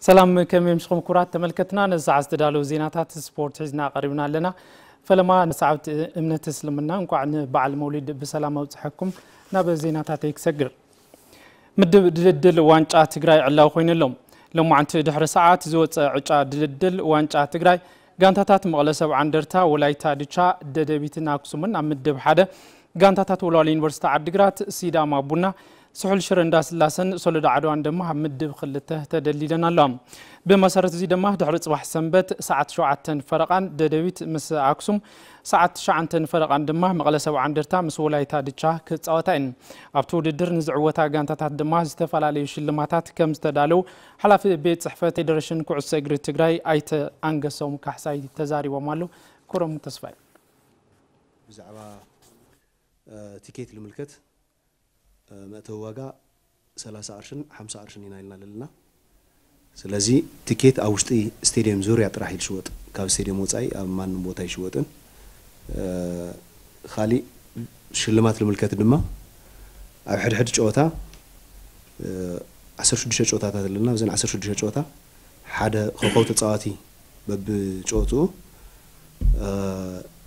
ሰላም፣ ከመይ ምሽኹም ክቡራት ተመልከትና? ነዚ ሰዓት ዝተዳለዉ ዜናታት ስፖርት ሒዝና ቀሪብና ኣለና። ፈለማ ንሰዓብቲ እምነት እስልምና እንኳዕ ንበዓል መውሊድ ብሰላም ኣብጽሐኩም። ናብ ዜናታተይ ክሰግር። ምድብ ድልድል ዋንጫ ትግራይ ዕላዊ ኮይኑ ኣሎ። ሎማዕንቲ ድሕሪ ሰዓት ዝወፀ ዕጫ ድልድል ዋንጫ ትግራይ ጋንታታት መቐለ ሰብዓ እንደርታ፣ ወላይታ ድቻ፣ ደደቢትን ኣክሱምን ኣብ ምድብ ሓደ፣ ጋንታታት ወልዋሎ ዩኒቨርሲቲ ዓዲግራት፣ ሲዳማ ቡና፣ ስሑል ሽረ እንዳስላሰን ሶሎዳ ዓድዋን ድማ ኣብ ምድብ ክልተ ተደልዲለን ኣለዋ። ብመሰረት እዚ ድማ ድሕሪ ፅባሕ ሰንበት ሰዓት ሸውዓተን ፈረቓን ደደቢት ምስ ኣክሱም፣ ሰዓት ትሽዓተን ፈረቓን ድማ መቐለ ሰብዓ እንደርታ ምስ ወላይታ ድቻ ክፃወታ እየን። ኣብቲ ውድድር ንዝዕወታ ጋንታታት ድማ ዝተፈላለዩ ሽልማታት ከም ዝተዳለዉ ሓላፊ ቤት ፅሕፈት ፌዴሬሽን ኩዕሶ እግሪ ትግራይ ኣይተ ኣንገሶም ካሕሳይ ተዛሪቦም ኣለዉ። ክብሮም ተስፋይ። ብዛዕባ እ፣ ቲኬት ልምልከት፣ እ፣ መእተዊ ዋጋ ሰላሳ ቅርሽን ሓምሳ ቅርሽን ኢና ኢልና ኣለና። ስለዚ ቲኬት ኣብ ውሽጢ ስቴድየም ዙርያ ጥራሕ እዩ ዝሽወጥ። ካብ ስቴድየም ወፃኢ ኣብ ማንም ቦታ ይሽወጥን። እ፣ ካሊእ ሽልማት ልምልከት ድማ ኣብ ሕድሕድ ጨወታ፣ እ፣ ዓሰርተ ሽዱሽተ ጨወታታት ኣለና። ኣብዘን ዓሰርተ ሽዱሽተ ጨወታ ሓደ ኮኸብ ተፃዋቲ በብጨወትኡ፣ እ፣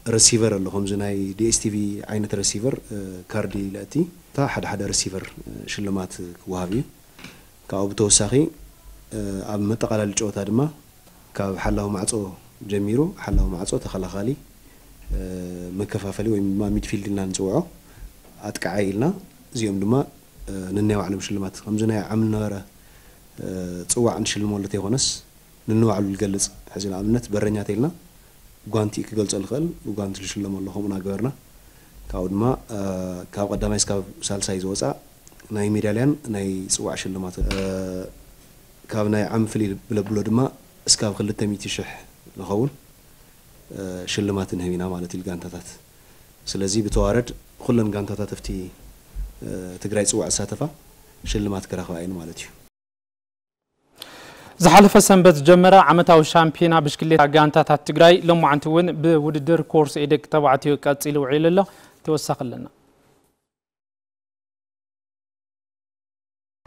ረሲቨር ኣሎ። ከምዚ ናይ ዲ ኤስ ቲ ቪ ዓይነት ረሲቨር፣ እ፣ ካርዲ ለእቲ እታ ሓደ ሓደ ረሲቨር፣ እ፣ ሽልማት ክወሃብ እዩ። ካብኡ ብተወሳኺ፣ እ፣ ኣብ መጠቓላሊ ጨወታ ድማ ካብ ሓላዊ ማዕጾ ጀሚሩ፣ ሓላዊ ማዕጾ፣ ተኸላኻሊ፣ እ፣ መከፋፈሊ ወይ ድማ ሚድፊልድ ኢልና ንጽውዖ፣ ኣጥቃዓይ ኢልና፣ እዚኦም ድማ፣ እ፣ ነናይ ባዕሎም ሽልማት ከምዚ ናይ ዓም ነበረ፣ እ፣ ጽዋዕ ንሽልመሉ ተይኮነስ፣ ንንባዕሉ ዝገልጽ፣ ሕዚ ንኣብነት በረኛ ተይልና ጓንቲ ክገልጾ ዝኽእል ብጓንቲ ዝሽለመሉ ከምኡ እናገበርና፣ ካብኡ ድማ፣ እ፣ ካብ ቀዳማይ እስካብ ሳልሳይ ዝወጻ ናይ ሜዳልያን ናይ ጽዋዕ ሽልማት፣ እ፣ ካብ ናይ ዓም ፍልይ ብለብሎ ድማ እስካብ ክልተ ሚእቲ ሽሕ ዝኸውን፣ እ፣ ሽልማት ንህብ ኢና ማለት እዩ ጋንታታት። ስለዚ ብተዋረድ ኩለን ጋንታታት ኣብቲ፣ እ፣ ትግራይ ጽዋዕ ዝሳተፋ ሽልማት ክረኽባ እየን ማለት እዩ። ዝሓለፈ ሰንበት ዝጀመረ ዓመታዊ ሻምፒዮና ብሽክሌታ ጋንታታት ትግራይ ሎማዓንቲ እውን ብውድድር ኮርስ ኤ ደቂ ተባዕትዮ ቀፂሉ ውዒሉ ኣሎ። ተወሳኺ ኣለና።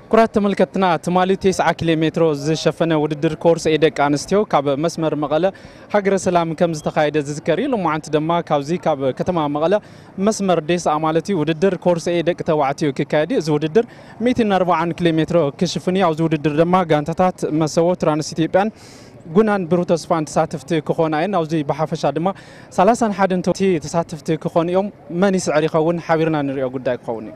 ክቡራት ተመልከትና፣ ትማሊ ተስዓ ኪሎ ሜትሮ ዝሸፈነ ውድድር ኮርስ ኤ ደቂ ኣንስትዮ ካብ መስመር መቐለ ሃገረ ሰላም ከም ዝተኻየደ ዝዝከር እዩ። ሎማዓንቲ ድማ ካብዚ ካብ ከተማ መቐለ መስመር ዴስኣ ማለት እዩ ውድድር ኮርስ ኤ ደቂ ተባዕትዮ ክካየድ እዩ። እዚ ውድድር ሚእትን ኣርባዓን ኪሎ ሜትሮ ክሽፍን እዩ። ኣብዚ ውድድር ድማ ጋንታታት መሰቦ፣ ትራንስ ኢትዮጵያን ጉናን ብሩህ ተስፋን ተሳተፍቲ ክኾና እየን። ኣብዚ ብሓፈሻ ድማ ሰላሳን ሓደን ተሳተፍቲ ክኾኑ እዮም። መን ይስዕር ይኸውን? ሓቢርና ንሪኦ ጉዳይ ክኸውን እዩ።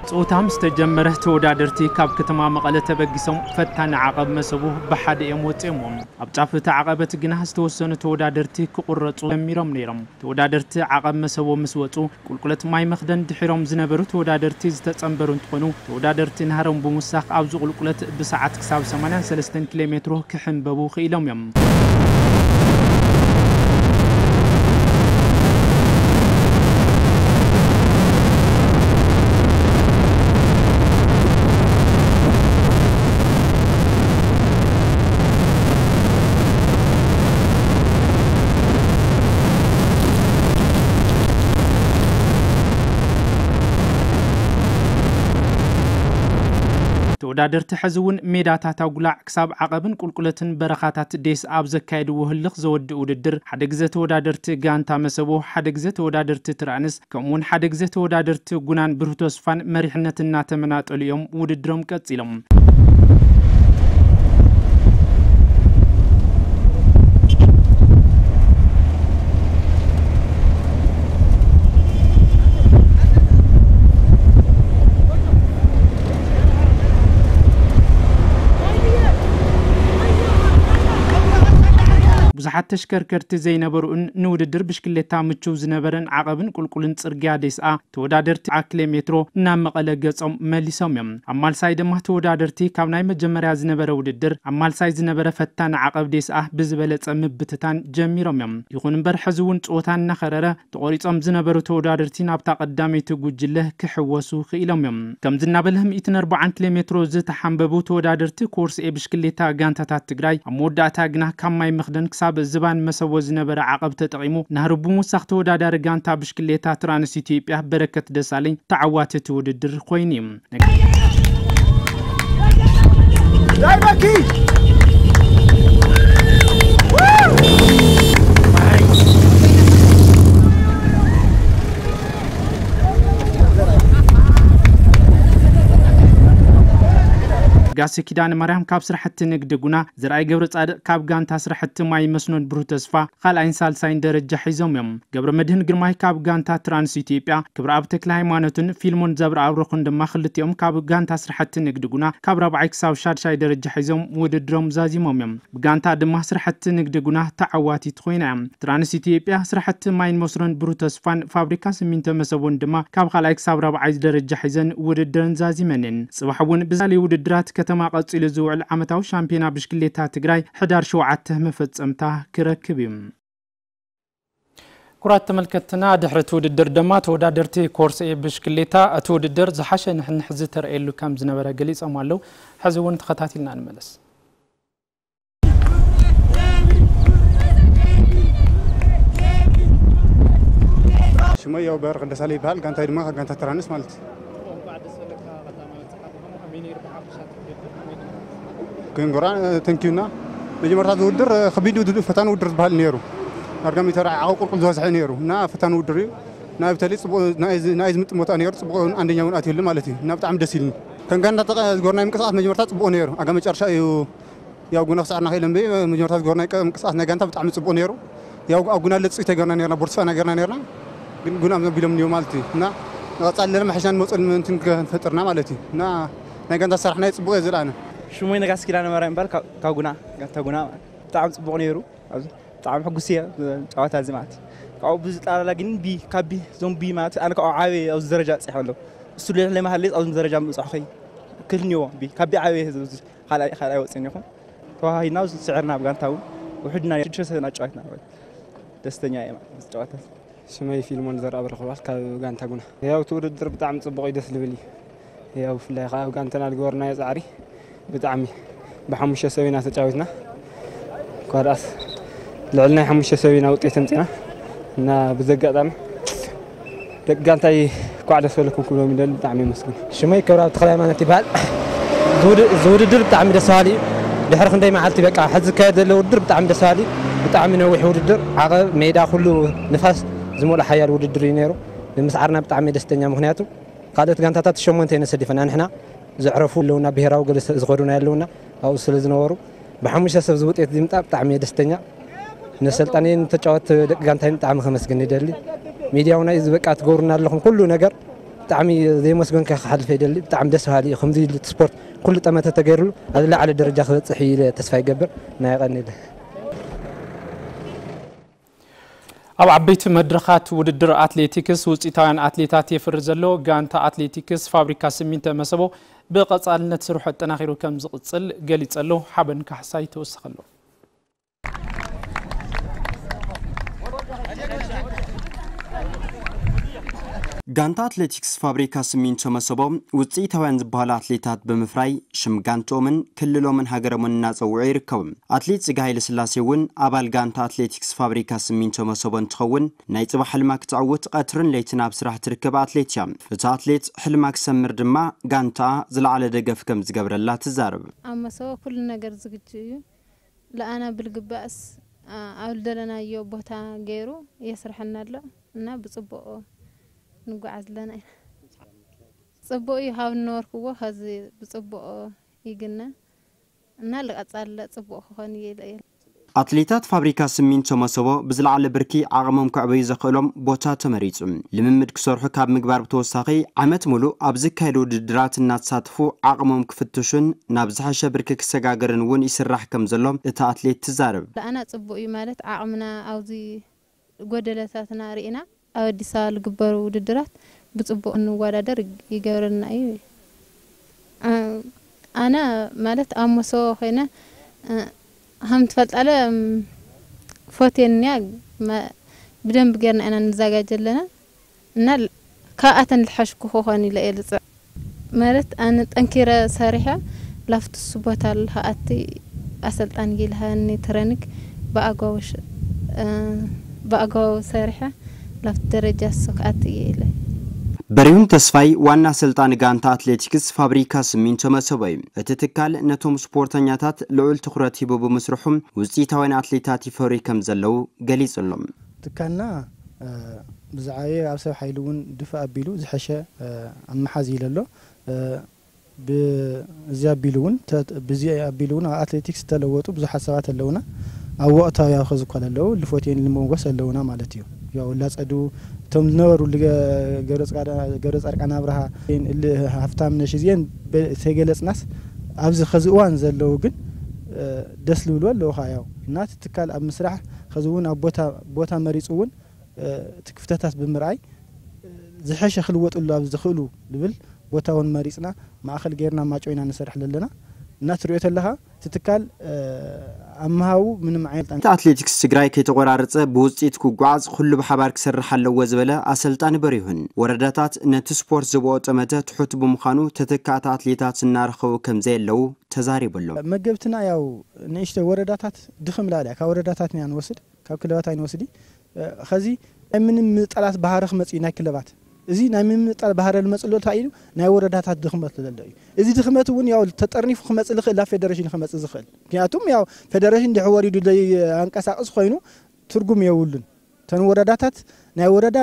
ጸወታ ምስ ተጀመረ፣ ተወዳደርቲ ካብ ከተማ መቐለ ተበጊሶም ፈታኒ ዓቐብ መሰቡ ብሓደ እዮም ወጺኦምዎ። ኣብ ጫፍ እቲ ዓቐበት ግና ዝተወሰኑ ተወዳደርቲ ክቑረጹ ጀሚሮም ነይሮም። ተወዳደርቲ ዓቐብ መሰቦ ምስ ወጹ፣ ቁልቁለት ማይ መኽደን ድሒሮም ዝነበሩ ተወዳደርቲ ዝተጸንበሩ እንትኾኑ፣ ተወዳደርቲ ናህሮም ብምውሳኽ ኣብዚ ቁልቁለት ብሰዓት ክሳብ ሰማንያን ሰለስተን ኪሎ ሜትሮ ክሕንበቡ ክኢሎም እዮም። ተወዳደርቲ ሕዚ እውን ሜዳታት ኣጉላዕ ክሳብ ዓቐብን ቁልቁለትን በረኻታት ዴስ ኣብ ዘካየድዎ ህልኽ ዘወድእ ውድድር፣ ሓደ ግዘ ተወዳደርቲ ጋንታ መሰቦ፣ ሓደ ግዘ ተወዳደርቲ ትራንስ፣ ከምኡ እውን ሓደ ግዘ ተወዳደርቲ ጉናን ብሩህ ተስፋን መሪሕነት እናተመናጠሉ እዮም ውድድሮም ቀፂሎም። ብዙሓት ተሽከርከርቲ ዘይነበሩን ንውድድር ብሽክሌታ ምቹው ዝነበረን ዓቐብን ቁልቁልን ጽርግያ ዴስኣ ተወዳደርቲ ኣክለ ሜትሮ ናብ መቐለ ገጾም መሊሶም እዮም። ኣብ ማልሳይ ድማ ተወዳደርቲ ካብ ናይ መጀመርያ ዝነበረ ውድድር ኣብ ማልሳይ ዝነበረ ፈታኒ ዓቐብ ዴስኣ ብዝበለጸ ምብትታን ጀሚሮም እዮም። ይኹን እምበር ሕዚ እውን ጸወታ እናኸረረ ተቖሪጾም ዝነበሩ ተወዳደርቲ ናብታ ቀዳመይቲ ጉጅለ ክሕወሱ ክኢሎም እዮም። ከምዚ እናበለ ሚእትን ኣርባዓን ኪሎ ሜትሮ ዝተሓንበቡ ተወዳደርቲ ኮርስ ኤ ብሽክሌታ ጋንታታት ትግራይ ኣብ መወዳእታ ግና ካብ ማይ መኽደን ክሳብ ዝባን መሰቦ ዝነበረ ዓቐብ ተጠቒሙ ናህሩ ብምውሳኽ ተወዳዳሪ ጋንታ ብሽክሌታ ትራንስ ኢትዮጵያ በረከት ደሳለኝ ተዓዋቲ እቲ ውድድር ኮይኑ እዩ። ጋሲ ኪዳነ ማርያም ካብ ስራሕቲ ንግዲ ጉና፣ ዘርኣይ ገብረ ጻድቕ ካብ ጋንታ ስራሕቲ ማይ መስኖን ብሩህ ተስፋ ካልኣይን ሳልሳይን ደረጃ ሒዞም እዮም። ገብረ መድህን ግርማይ ካብ ጋንታ ትራንስ ኢትዮጵያ፣ ክብረኣብ ተክለ ሃይማኖትን ፊልሞን ዘብረኣብሩኽን ድማ ክልቲኦም ካብ ጋንታ ስራሕቲ ንግዲ ጉና ካብ ራብዓይ ክሳብ ሻድሻይ ደረጃ ሒዞም ውድድሮም ዛዚሞም እዮም። ብጋንታ ድማ ስራሕቲ ንግዲ ጉና ተዓዋቲት ኮይና እያ። ትራንስ ኢትዮጵያ ስራሕቲ ማይን መስኖን ብሩህ ተስፋን ፋብሪካ ሲሚንቶ መሰቦን ድማ ካብ ካልኣይ ክሳብ ራብዓይ ደረጃ ሒዘን ውድድረን ዛዚመን እየን። ጽባሕ እውን ብዛሊ ውድድራት ከተማ ቀጺሉ ዝውዕል ዓመታዊ ሻምፒዮና ብሽክሌታ ትግራይ ሕዳር ሸውዓተ መፈጸምታ ክረክብ እዩ። ክቡራት ተመልከትና፣ ድሕሪ እቲ ውድድር ድማ ተወዳደርቲ ኮርስ ኤ ብሽክሌታ እቲ ውድድር ዝሓሸ ንሕንሕ ዝተረእየሉ ከም ዝነበረ ገሊጾም ኣለዉ። ሕዚ እውን ተኸታቲልና ንመለስ። ሽመይ ያው በረኸት ደሳለኝ ይበሃል። ጋንታይ ድማ ጋንታ ትራንስ ማለት እዩ። ክንጎራ ተንኪዩና። መጀመርታ ዝውድር ከቢድ ውድድር፣ ፈታኒ ውድድር ዝበሃል ነይሩ። ዳርጋ ሚተር ዓቐብ ቁልቁል ዝበዝሐ ነይሩ እና ፈታኒ ውድድር እዩ። ናይ ብተለይ ጽቡቕ ናይ ዝ-፣ ናይ ዝምጥን ቦታ ነይሩ። ጽቡቕ እውን ኣንደኛ እውን ኣትዩሉ ማለት እዩ እና ብጣዕሚ ደስ ኢሉኒ። ከም ጋንታ ተቐ-፣ ዝጎርናይ ምንቅስቓስ መጀመርታ ጽቡቕ ነይሩ። ኣጋ መጨረሻ እዩ ያው ጉና ክሳዕና ከኢለን በይ መጀመርታ ዝጎርናይ ቀ-፣ ምንቅስቓስ ናይ ጋንታ ብጣዕሚ ጽቡቕ ነይሩ። ያው ኣብ ጉና ለጽ ተገርና ነርና፣ ቦርድ ስፋና ገርና ነርና። ግን ጉና ዘቢሎም እንዲዮ ማለት እዩ እና ንቐጻሊ ለመ ሕሻን መጽል ምንትን ከንፈጥርና ማለት እዩ እና ናይ ጋንታ ሰራሕና ጽቡቕ እየ ዝለኣነ። ሽሞይ ነጋስ ኪዳነ ማርያም ይባል፣ ካብ፣ ካብ ጉና፣ ጋንታ ጉና። ብጣዕሚ ጽቡቕ ነይሩ። ኣብዚ ብጣዕሚ ሕጉስ እየ፣ ጨዋታ እዚ ማለት እዩ። ካብኡ ብዝጠላላ ግን ቢ፣ ካብ ቢ፣ ዞም ቢ ማለት ኣነ ካብኡ ዓበየ ኣብዚ ደረጃ በጺሐ ኣለኹ። እሱ ልዕሊ መሃሌት ኣብዚ ደረጃ ምብጻሕኸይ ክልኒዎ ቢ፣ ካብ ቢ ዓበየ እዚ፣ እዚ ካልኣይ፣ ካልኣይ ወጺእኒ ይኹን። ተዋሃሂድና ኣብዚ ስዕርና ኣብ ጋንታ እውን ውሕድና ሽዱሽተ ሰብ ኢና ጨዋትና። ደስተኛ እየ ማለት እዚ ጨዋታ እዚ። ሽመይ ፊልሞን ዘርኣ በረኽባል ካብ ጋንታ ጉና። ያው እቲ ውድድር ብጣዕሚ ጽቡቕ እዩ፣ ደስ ዝብል እዩ። ያው ብፍላይ ከኣ ኣብ ጋንታና ዝገበርናዮ ጻዕሪ ብጣዕሚ ብሓሙሽተ ሰብ ኢና ተጫዊትና። እኳ ደኣስ ልዕሊ ናይ ሓሙሽተ ሰብ ኢና ውጤት ኣምጺና እና ብዚ ኣጋጣሚ ደቂ ጋንታይ እንኳዕ ደስ በለኩም ክብሎም ይደሊ። ብጣዕሚ የመስግን። ሽመይ ክብረኣብ ተኽለ ሃይማኖት ይበሃል። ዝውድ-፣ ዝውድድር ብጣዕሚ ደስ በሃሊ እዩ። ድሕሪ ክንደይ መዓልቲ በቃ ሕዚ ዝካየድ ዘሎ ውድድር ብጣዕሚ ደስ በሃሊ እዩ። ብጣዕሚ ነዊሕ ውድድር፣ ዓቐብ፣ ሜዳ ኩሉ ንፋስ ዝመልኦ ሓያል ውድድር እዩ ነይሩ። ንምስዓርና ብጣዕሚ ደስተኛ፣ ምኽንያቱ ካልኦት ጋንታታት ሸሞንተ እየን ኣሰሊፈና፣ ንሕና ዘዕረፉ ኣለውና፣ ብሄራዊ ገለ ዝኸዱና ኣለውና፣ ኣብኡ ስለ ዝነበሩ ብሓሙሽተ ሰብ ዝውጤት ዝምጣ ብጣዕሚ እየ ደስተኛ። ነሰልጣነይን ተጫወት ደቂ ጋንታይን ብጣዕሚ ከመስግን ይደሊ። ሚድያ እውን እዚ በቃ ትገብሩና ኣለኹም ኩሉ ነገር ብጣዕሚ ዘይመስገንካ ክሓልፈ ይደሊ። ብጣዕሚ ደስ በሃሊ እዩ። ከምዚ ኢሉ እቲ ስፖርት ኩሉ ጠመተ ተገይሩሉ ኣብ ዝለዓለ ደረጃ ክበፅሕ እዩ ኢለ ተስፋ ይገብር። ናይ ቀኒለ። ኣብ ዓበይቲ መድረኻት ውድድር ኣትሌቲክስ ውፅኢታውያን ኣትሌታት የፍሪ ዘሎ ጋንታ ኣትሌቲክስ ፋብሪካ ሲሚንቶ መሰቦ ብቐፃልነት ስርሑ ኣጠናኺሩ ከም ዝቕፅል ገሊፀ ኣሎ። ሓበን ካሕሳይ ተወሰኸ ኣሎ። ጋንታ ኣትሌቲክስ ፋብሪካ ሲሚንቶ መሰቦ ውፅኢታውያን ዝበሃሉ ኣትሌታት ብምፍራይ ሽም ጋንትኦምን ክልሎምን ሃገሮምን እናፀውዑ ይርከቡ። ኣትሌት ፅጋ ሃይለስላሴ እውን ኣባል ጋንታ ኣትሌቲክስ ፋብሪካ ሲሚንቶ መሰቦ እንትኸውን፣ ናይ ፅባሕ ሕልማ ክትዕውት ቀትርን ለይትን ኣብ ስራሕ ትርከብ ኣትሌት እያ። እታ ኣትሌት ሕልማ ክሰምር ድማ ጋንታኣ ዝለዓለ ደገፍ ከም ዝገብረላ ትዛረብ። ኣብ መሰቦ ኩሉ ነገር ዝግጁ እዩ። ለኣና ብልግባእስ፣ ኣ-፣ ኣብ ዝደለናዮ ቦታ ገይሩ የስርሐና ኣሎ እና ብፅቡቕ ንጓዓዝ ኣለና ኢና። ፅቡቕ እዩ፣ ካብ ዝነበርኩዎ ኸዚ ብፅቡቕ ይግነ እና ልቐፃለ ፅቡቕ ክኾን እየ ኢለ እየ። ኣትሌታት ፋብሪካ ስሚንቶ መሰቦ ብዝለዓለ ብርኪ ዓቕሞም ከዕበዩ ዘኽእሎም ቦታ ተመሪጹ። ልምምድ ክሰርሑ ካብ ምግባር ብተወሳኺ ዓመት ሙሉእ ኣብ ዝካየዱ ውድድራት እናተሳተፉ ዓቕሞም ክፍትሹን ናብ ዝሐሸ ብርኪ ክሰጋገርን እውን ይስራሕ ከም ዘሎ እታ ኣትሌት ትዛረብ። ኣና ጽቡቕ እዩ ማለት ዓቕምና ኣብዚ ጎደለታትና ርኢና ኣብ ኣዲስ ኣበባ ዝግበሩ ውድድራት ብጽቡቕ እንወዳደር ይገብረና እዩ። ኣነ ማለት ኣብ መሰቦ ኮይነ ከም ትፈልጣለ ፎቴንያ ብደንብ ጌርና ኢና ንዘጋጀ ኣለና እና ካብኣተን ዝሓሽኩ ክኾን ኢለ እየ ዝፅዕ ማለት ኣነ ጠንኪረ ሰሪሐ ላፍትሱ ቦታ ኣለሃኣቲ ኣሰልጣን ጊልሃኒ ትረኒክ ብኣግባቡ ሰሪሐ ላፍቲ ደረጃ እሱ ክኣቲ እየ ኢለ። በሪሁን ተስፋይ ዋና ኣሰልጣኒ ጋንታ ኣትሌቲክስ ፋብሪካ ስሚንቶ መሰቦ እዩ። እቲ ትካል ነቶም ስፖርተኛታት ልዑል ትኹረት ሂቡ ብምስርሑ ውፅኢታውያን ኣትሌታት ይፈርዩ ከም ዘለዉ ገሊጹ ኣሎ። ትካልና ብዝዓበየ ኣብ ሰብ ሓይሊ እውን ድፍእ ኣቢሉ ዝሐሸ ኣመሓዝ ኢለ ኣሎ። ብዚ ኣቢሉ እውን ብዚ ኣቢሉ እውን ኣብ ኣትሌቲክስ ዝተለወጡ ብዙሓት ሰባት ኣለውና። ኣብ ወቕታዊ ኣብ ኸዚ እኳ ኣለዉ ልፎቴን ልመጎስ ኣለውና ማለት እዩ። ያው ላጸዱ እቶም ዝነበሩ ገብረ ጻድቃን ኣብርሃ፣ እል ሃፍታም ነሽ እዚአን ተገለጽናስ ኣብዚ ኸዚ እዋን ዘለዉ ግን ደስ ልብሉ ኣለዉ ኸዓ ያው እና እቲ ትካል ኣብ ምስራሕ ኸዚ እውን ኣብ ቦታ መሪጹ እውን እቲ ክፍተታት ብምርኣይ ዝሐሸ ክልወጥሉ ኣብ ዝኽእሉ ልብል ቦታ እውን መሪፅና ማእኸል ጌርና ማጨው ኢና ንሰርሕ ዘለና። እናትሪኦ ተለኻ እቲ ትካል ኣብ ምሃቡ ምንም ዓይነት እቲ ኣትሌቲክስ ትግራይ ከይተቆራረፀ ብውፅኢት ክጓዓዝ ኩሉ ብሓባር ክሰርሕ ኣለዎ ዝበለ ኣሰልጣኒ በሪሁን ወረዳታት ነቲ ስፖርት ዝብኦ ጠመተ ትሑት ብምዃኑ ተተካእቲ ኣትሌታት እናረኸቡ ከም ዘየለዉ ተዛሪቡ ኣሎ። መገብትና ያው ንእሽተ ወረዳታት ድኽም ላለ ካብ ወረዳታት ኢና ንወስድ ካብ ክለባት ኣይንወስዲ ኸዚ ናይ ምንም ምጣላት ባህሪ ክመጽእ ናይ ክለባት እዚ ናይ ምምጣል ባህሪ ልመጽእ ኣሎ እንታይ እዩ ናይ ወረዳታት ድኽመት ዘሎ እዩ። እዚ ድኽመት እውን ያው ተጠርኒፉ ክመጽእ ልኽእል ናብ ፌደሬሽን ክመጽእ ዝኽእል ምክንያቱም ያው ፌደሬሽን ድሕ ወሪዱ ደይ ኣንቀሳቅስ ኮይኑ ትርጉም የብሉን። ተን ወረዳታት ናይ ወረዳ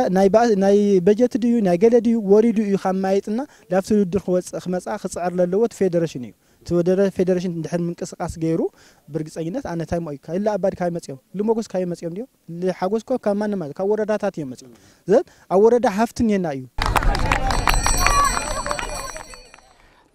ናይ በጀት ድዩ ናይ ገለ ድዩ ወሪዱ እዩ ካብ ማየጥና ላብቲ ውድድር ክወፅእ ክመፅኣ ክፅዕር ለለዎ እቲ ፌደሬሽን እዩ። እቲ ወደረ ፌደሬሽን እንድሕር ምንቅስቃስ ገይሩ ብርግፀኝነት ኣነ እንታይ ሞ እዩ ካይላ ኣባዲ ካበይ መፅኦም ልሞጎስ ካበይ መፅኦም ድዮም ልሓጎስ ኮ ካብ ማንም ማለት ካብ ወረዳታት እዮም መፅኦም ዘን ኣብ ወረዳ ሃፍቲ እኒሀና እዩ።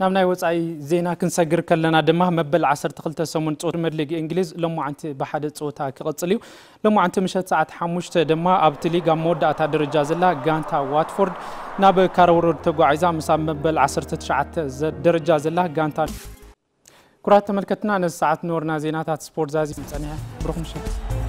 ናብ ናይ ወፃኢ ዜና ክንሰግር ከለና ድማ መበል ዓሰርተ ክልተ ሰሙን ጾት መድሊግ እንግሊዝ ሎማዓንቲ ብሓደ ጸወታ ክቕጽል እዩ። ሎማዓንቲ ምሸት ሰዓት ሓሙሽተ ድማ ኣብቲ ሊግ ኣብ መወዳእታ ደረጃ ዘላ ጋንታ ዋትፎርድ ናብ ካረወሮድ ተጓዒዛ ምስ ኣብ መበል ዓሰርተ ትሽዓተ ደረጃ ዘላ ጋንታ ኩራት ተመልከትና ነዚ ሰዓት ነበርና ዜናታት ስፖርት ዛዚ ጸኒሐ ብሩኽ ምሸት።